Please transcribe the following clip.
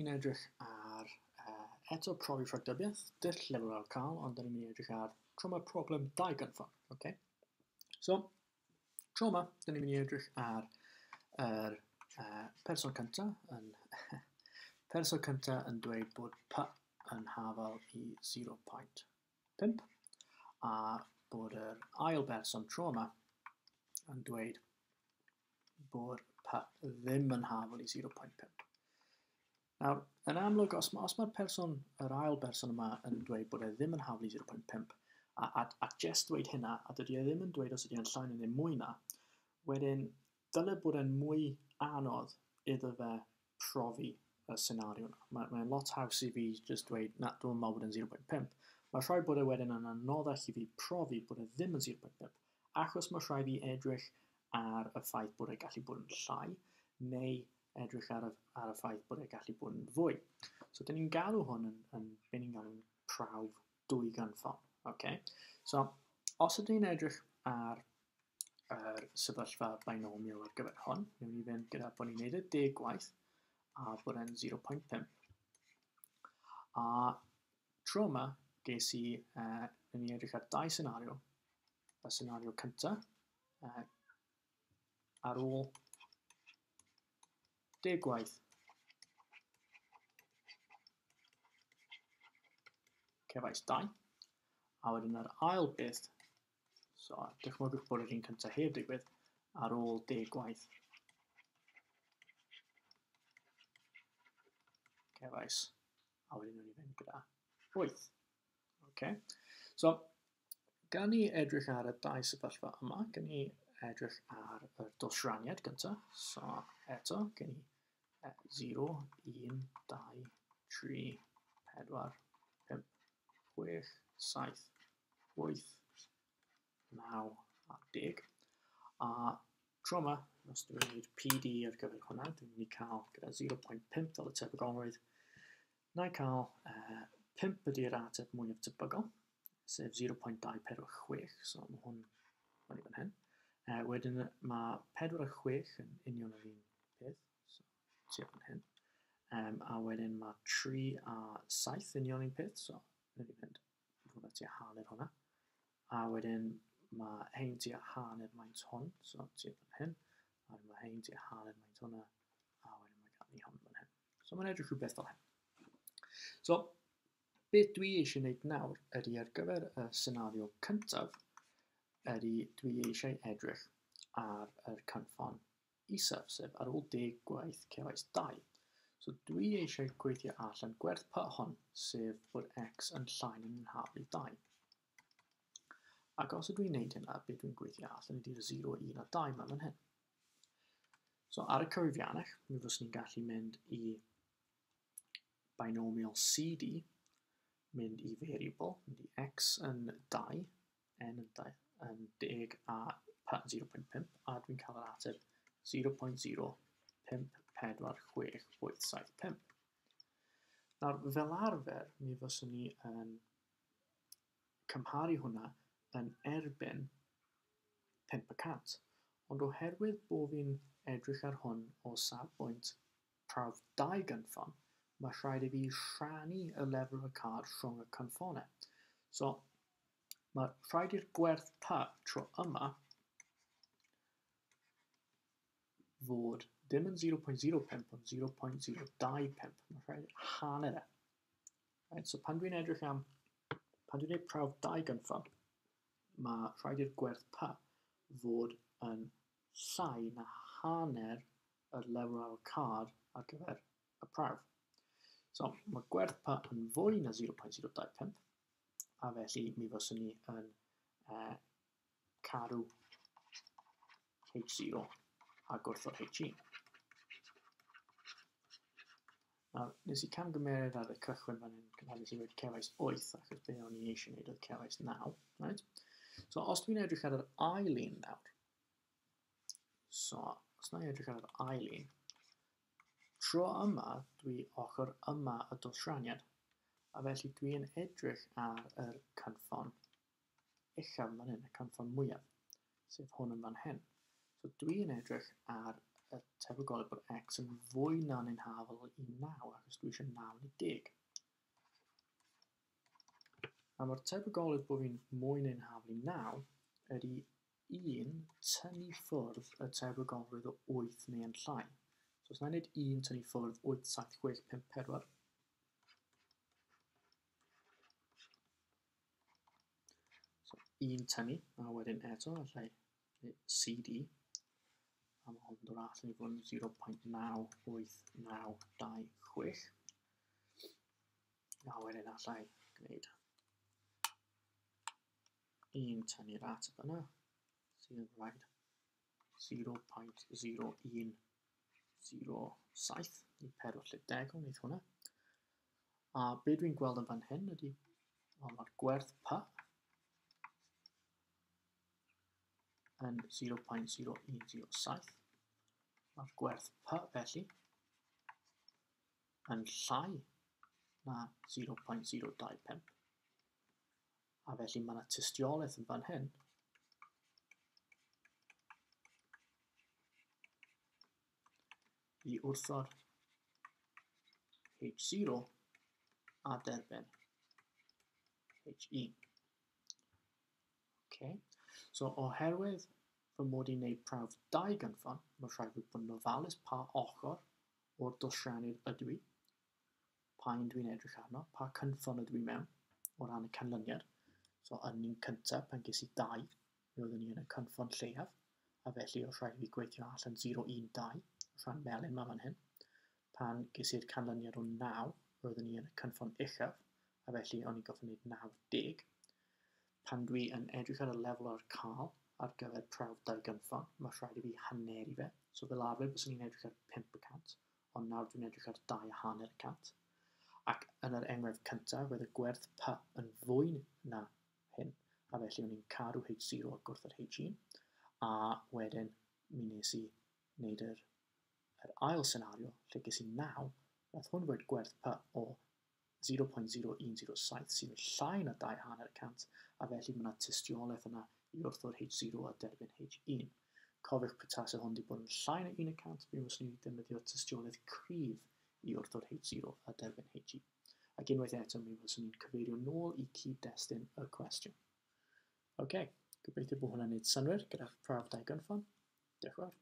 ni'n edrych ar eto profi rhagdybiaeth, dull lefel ar cael, ond dyn ni'n mynd i edrych ar tro yma problem 2 gynffon. Okay? So, tro yma, dyn ni'n mynd i edrych ar yr person cyntaf yn person cyntaf yn dweud bod P yn hafal i 0.5 a bod yr ail berson tro yma yn dweud bod P ddim yn hafal i 0.5. Nawr, yn amlwg, os, os mae'r person, yr ail berson yma yn dweud bod e ddim yn hafal i 0.5, a just dweud hynna, a dydy e ddim yn dweud os ydy e'n llai neu mwy na, wedyn dyle bod e'n mwy anodd iddo fe profi y senario yna. Mae'n lot haws i fi just dweud, na, dwi'n meddwl bod e'n 0.5. Mae rhaid bod e wedyn yn anoddach i fi profi bod e ddim yn 0.5, achos mae rhaid fi edrych ar y ffaith bod e gallu bod yn llai, neu edrych ar y ffaith bod e gallu bod yn fwy. So, dyn ni'n galw hwn yn be ni'n galw'n prawf 2 gynffon. Okay? So, os ydyn ni'n edrych ar yr sefyllfa binomial ar gyfer hwn, newn ni fynd gyda bod ni'n neud e 10 gwaith a bod e'n 0.5. A tro yma, ges i, newn ni edrych ar 2 senario. Y senario cyntaf, ar ôl 10 gwaith cefais 2, a wedyn yr ail beth, so dychmygwch bod yr un cyntaf heb digwydd, ar ôl 10 gwaith cefais, a wedyn nhw'n i fynd gyda 8. Okay. So, gan ni edrych ar y dau sefyllfa yma, gan ni edrych ar y dosraniad gyntaf. So, eto, gen i 0, 1, 2, 3, 4, 5, 6, 7, 8, 9 a 10. A tro yma, os dwi'n gwneud PD ar gyfer hwnna, dwi'n mynd i cael gyda 0.5 fel y tebygolrwydd. Na i cael 5 ydy'r ateb mwyaf tebygol, sef 0.246, so mae hwn fyny fan hyn. Wedyn mae 4 a 6 yn union yr un peth, so tua fan hyn. A wedyn mae 3 a 7 union un peth, so wnawn ni fynd hwnna tua hanner hwnna. A wedyn mae hein tua hanner maint hwn, so tua fan hyn. A wedyn mae hein tua hanner maint hwnna, a wedyn mae gan ni hwn fan hyn. So mae'n edrych rhywbeth fel hyn. So, beth dwi eisiau gwneud nawr ydy ar gyfer y senario cyntaf, ydy dwi eisiau edrych ar yr cynffon isaf, sef ar ôl 10 gwaith cefais 2. So dwi eisiau gweithio allan gwerth P hon, sef bod x yn llai na'n hafal i 2. Ac os ydw i'n gwneud hynna, beth dwi'n gweithio allan ydy'r 0, 1 a 2 yma fan hyn. So ar y cyfrifiannell, mi fyswn i'n gallu mynd i binomial CD, mynd i variable, mynd i x yn 2, n yn 2, yn 10 a p yn 0.5, a dwi'n cael yr ateb 0.054687.5. Nawr, fel arfer, mi fyswn ni yn cymharu hwnna yn erbyn 5%, ond oherwydd bod fi'n edrych ar hwn o safbwynt prawf 2 gynffon, mae rhaid i fi rhannu y lefel y card rhwng y cynffonau. So, mae rhaid i'r gwerth P tro yma fod ddim yn 0.05 ond 0.025. Mae rhaid hanner e. Right, so pan dwi'n edrych am, pan dwi'n gwneud prawf 2 gynffon, mae rhaid i'r gwerth P fod yn llai na hanner yr lefel ar y card ar gyfer y prawf. So, mae gwerth P yn fwy na 0.025, a felly mi fyswn ni yn cadw H0 a gwrthod H1. Nawr, nes i camgymeriad ar y cychwyn fan hyn, pan nes i wedi cefais 8, achos be o'n i eisiau gwneud oedd cefais 9. Right? So, os dwi'n edrych ar yr ail un nawr, so, os na i edrych ar yr ail un, tro yma dwi ochr yma y dosraniad, a felly dwi'n edrych ar yr cynffon uchaf fan hyn, y cynffon mwyaf, sef hwn yn fan hyn. So dwi'n edrych ar y tebygolrwydd bod x yn fwy na neu'n hafal i 9, achos dwi eisiau 9 neu 10. A mae'r tebygolrwydd bod fi'n mwy neu'n hafal i 9 ydy 1 tynnu ffwrdd y tebygolrwydd o 8 neu yn llai. So os na i wneud 1 tynnu ffwrdd 8, 7, 6, 5, 4, so 1 tynnu, a wedyn eto allai CD, a mae hwn yn dod allan i fod yn 0.98926. A wedyn allai gwneud 1 tynnu'r ateb yna, sydd yn rhaid 0.0107, neu 4 lle degol, wneud hwnna. A be dwi'n gweld yn fan hyn ydy, wel, mae'r gwerth P yn 0.0107. Mae'r gwerth P felly yn llai na 0.025. A felly mae yna tystiolaeth yn fan hyn i wrthod H0 a derbyn H1. Okay. So oherwydd fy mod i'n gwneud prawf 2 gynffon, mae rhaid fi bod yn ofalus pa ochr o'r dosraniad ydw i, pa un dwi'n edrych arno, pa cynffon ydw i mewn o ran y canlyniad. So yn un cyntaf, pan ges i 2, mi oeddwn i yn y cynffon lleiaf, a felly oedd rhaid i fi gweithio allan 0, 1, 2, rhan melyn ma fan hyn. Pan ges i'r canlyniad o 9, roeddwn i yn y cynffon uchaf, a felly o'n i'n gorfod gwneud 90. Pan dwi yn edrych ar y lefel o'r cael ar gyfer prawf 2 gynffon, mae rhaid i fi haneru fe. So fel arfer, byswn i'n edrych ar 5%, ond nawr dwi'n edrych ar 2.5%. Ac yn yr enghraifft cyntaf, roedd y gwerth P yn fwy na hyn, a felly o'n i'n cadw H0 ac wrth yr H1, a wedyn mi nes i wneud yr ail senario, lle ges i 9, nath hwn roed gwerth P o 0.0107 sydd yn llai na 2.5%, a felly mae yna tystiolaeth yna i wrthod H0 a derbyn H1. Cofiwch petase hwn wedi bod yn llai na 1%, mi fyswn i wedi defnyddio tystiolaeth cryf i wrthod H0 a derbyn H1. Ac unwaith eto, mi fyswn i'n cyfeirio nôl i cyd-destun y cwestiwn. OK, gobeithio bod hwnna'n gwneud synnwyr gyda'ch prawf 2 gynffon. Diolch yn fawr.